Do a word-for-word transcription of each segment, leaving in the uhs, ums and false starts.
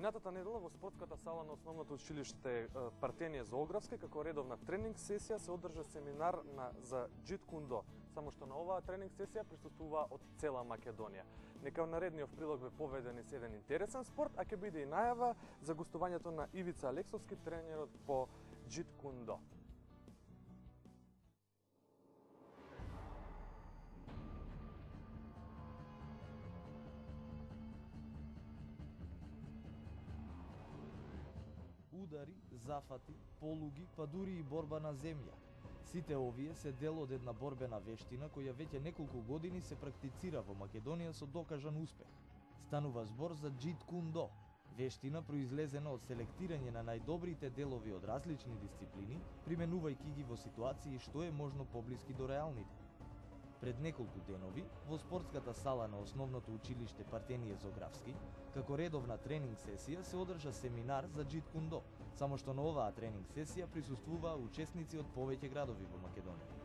Минатата недела во спортската сала на основното училиште Партенije Зоографски како редовна тренинг сесија се одржа семинар на за Джит Кундо. Само што на оваа тренинг сесија присуствува од цела Македонија. Нека во наредниот прилог ве поведе низ еден интересен спорт, а ќе биде и најава за гостувањето на Ивица Алексовски, тренерот по Джит Кундо. Удари, зафати, полуги, па дури и борба на земја. Сите овие се дел од една борбена вештина која веќе неколку години се практицира во Македонија со докажан успех. Станува збор за Джит Кундо, вештина произлезена од селектирање на најдобрите делови од различни дисциплини, применувајќи ги во ситуации што е можно поблиски до реалните. Пред неколку денови, во спортската сала на основното училиште Партенije Зоографски, како редовна тренинг сесија се одржа семинар за Джит Кундо, само што на оваа тренинг сесија присуствуваа учесници од повеќе градови во Македонија.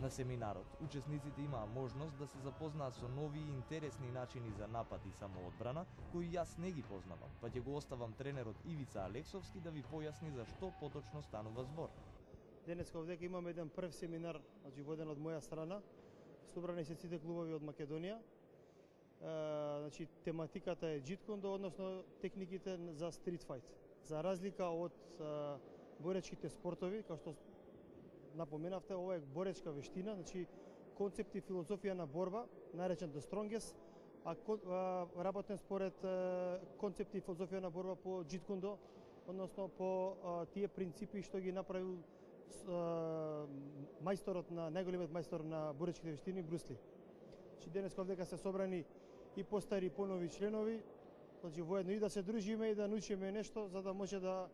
На семинарот, учесниците имаа можност да се запознаат со нови и интересни начини за напад и самоодбрана, кои јас не ги познавам, па ќе го оставам тренерот Ивица Алексовски да ви појасни за што поточно станува збор. Денеска овдека имаме еден прв семинар, значи воден од моја страна. Собрани се сите клубови од Македонија. E, значи, тематиката е Джит Кундо, односно техниките за стрит фајт. За разлика од e, боречките спортови, како што напоменавте, ова е боречка вештина, значи концепт и филозофија на борба, наречен The Strongest, а, а работен според а, концепт и филозофија на борба по Джит Кундо, односно по а, тие принципи што ги направил мајсторот на најголемиот мајстор на боречките вештини Брус Ли. Значи денес овдека се собрани и постари и понови членови, значи воедно и да се дружиме и да научиме нешто за да може да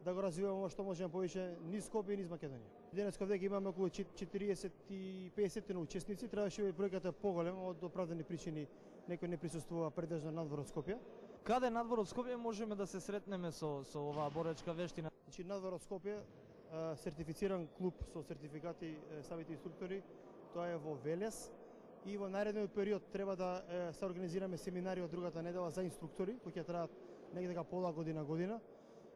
да го развиваме ова што можеме повеќе низ Скопје и низ Македонија. Денес овдека имаме околу четириесет и песет учесници, требаше би бројката поголема, од оправдани причини некој не присуствува предежно надвор од Скопје. Каде надвор од Скопје можеме да се сретнеме со со оваа боречка вештина? Значи надвор од Скопје, сертифициран клуб со сертификати самите инструктори, тоа е во Велес, и во наредниот период треба да се организираме семинари од другата недела за инструктори кои ќе траат негде дека пола година година.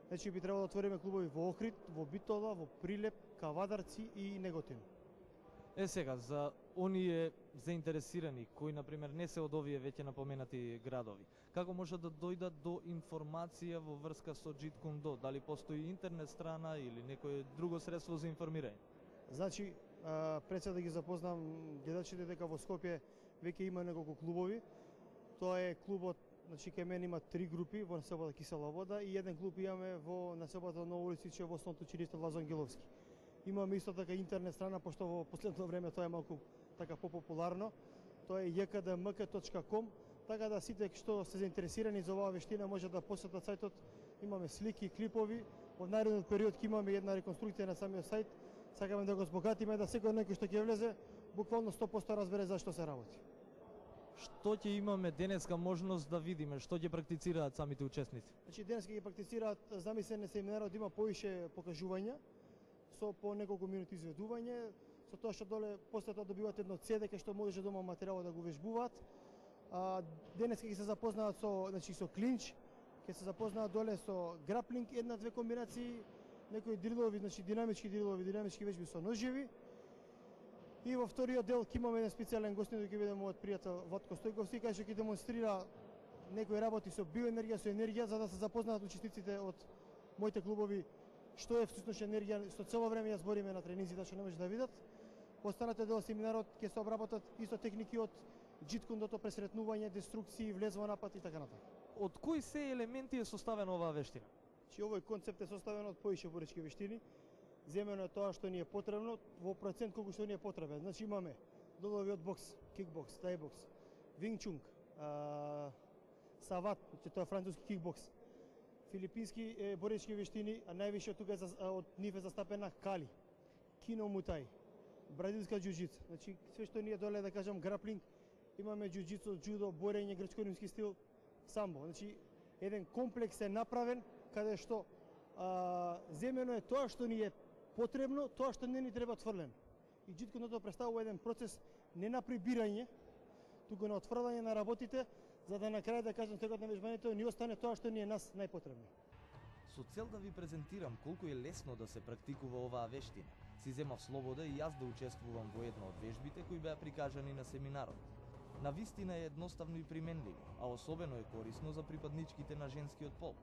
Значи би требало да отвориме клубови во Охрид, во Битола, во Прилеп, Кавадарци и Неготин. Е сега, за оние заинтересирани кои на пример не се од овие веќе напоменати градови, како може да дојдат до информација во врска со Джит Кундо? Дали постои интернет страна или некое друго средство за информирање? Значи, пред се да ги запознам гледачите дека во Скопје веќе има неколку клубови. Тоа е клубот, значи кај мене има три групи во населбата Кисела вода и еден клуб имаме во населбата Ново Улициче во основното училиште Лазо Ангеловски. Имаме исто така интернет страна, пошто во последно време тоа е малку така попопуларно. Тоа е j k d m k точка com, така да сите што се заинтересирани за оваа вештина може да посетат сајтот. Имаме слики, клипови. Во наредниот период ќе имаме една реконструкција на самиот сајт. Сакаме да го збогатиме, да секој некој што ќе влезе буквално сто проценти разбере зашто се работи. Што ќе имаме денеска можност да видиме, што ќе практицираат самите учесници? Значи денеска ќе практицираат замислен семинарот, има поише покажувања со по неколку минути изведување, со тоа што доле после тоа добиваат едно C D кај што може дома материјал да го вежбуваат. А, денеска ќе се запознаат со, значи со клинч, ќе се запознаат доле со граплинг, една-две комбинации, некои дрилови, значи динамички дрилови, динамички вежби со ножеви. И во вториот дел ќе имаме еден специјален гостин, кој ќе биде мојот пријател Ватко Стојковски, кај што ќе демонстрира некои работи со биоенергија, со енергија, за да се запознаат учесниците од моите клубови што е всушност енергија, што цело време ја збориме на тренинзите, што не може да видат. Останате дел семинарот ќе се обработат исто техники од Джит Кундото, пресретнување, деструкции, влез во напад и така натаму. Од кои се елементи е составена оваа вештина? Чи овој концепт е составен од поише боречки вештини. Земено е тоа што ни е потребно во процент колку што ни е потребен. Значи имаме делови од бокс, кикбокс, тајбокс, вингчунг, сават, че тоа е француски кикбокс, филипински е, боречки вештини, а највише од тука е за, од нив е застапена кали, кино мутај, бразилска џуџица. Значи све што ние доле да кажам граплинг, имаме џуџицу, џудо, борење, грчко-римски стил, самбо. Значи еден комплекс е направен каде што а, земено е тоа што ни е потребно, тоа што не ни треба отфрлено. И Джит Кундото представува еден процес не на прибирање, туку на отфрлање на работите, за да на крај да кажам текот на вежбањето ни остане тоа што ни е нас најпотребно. Со цел да ви презентирам колку е лесно да се практикува оваа вештина, си земав слобода и јас да учествувам во една од вежбите кои беа прикажани на семинарот. На вистина е едноставно и применливо, а особено е корисно за припадничките на женскиот пол.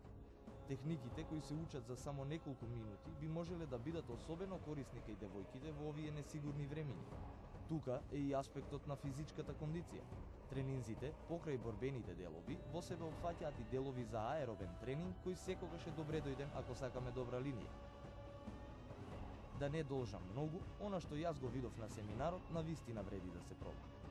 Техниките кои се учат за само неколку минути би можеле да бидат особено корисни кај девојките во овие несигурни времиња. Тука е и аспектот на физичката кондиција. Тренинзите, покрај борбените делови, во себе опфаќаат и делови за аеробен тренинг кој секогаш е добре дојден ако сакаме добра линија. Да не должам многу, она што јас го видов на семинарот, на вистина вреди да се проба.